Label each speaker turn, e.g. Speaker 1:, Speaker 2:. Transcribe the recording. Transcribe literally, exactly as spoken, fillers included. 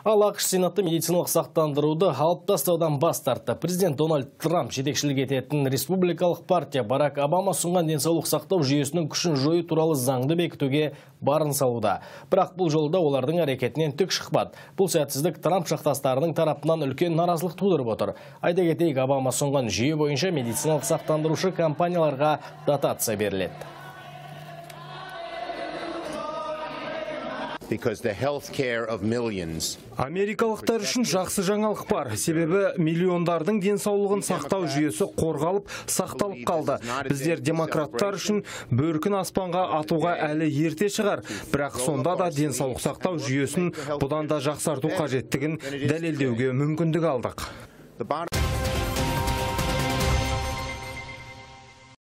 Speaker 1: Ал ақш Сенаты медициналық сақтандыруды алып тастаудан бас тартты. Президент Дональд Трамп жетекшілік ететін республикалық партия Барак Обама ұсынған денсаулық сақтау жүйесінің күшін жою туралы заңды бекітуге барын салуда. Бірақ бұл жолда олардың әрекетінен түк шықпады. Бұл сәтсіздік Трамп жақтастарының тарапынан үлкен наразылық тудырып отыр. Айта кетейік, Обама ұсынған жүйе бойынша медициналық сақтандырушы компанияларға дотация беріледі.
Speaker 2: Америкалықтар үшін жақсы жаңалық бар. Себебі миллиондардың денсаулығын сақтау жүйесі қорғалып, сақталып қалды. Біздер демократтар үшін бөркін аспанға атуға әлі ерте шығар. Бірақ сонда да денсаулық сақтау жүйесін бұдан да жақсарту қажеттігін дәлелдеуге мүмкіндік алдық.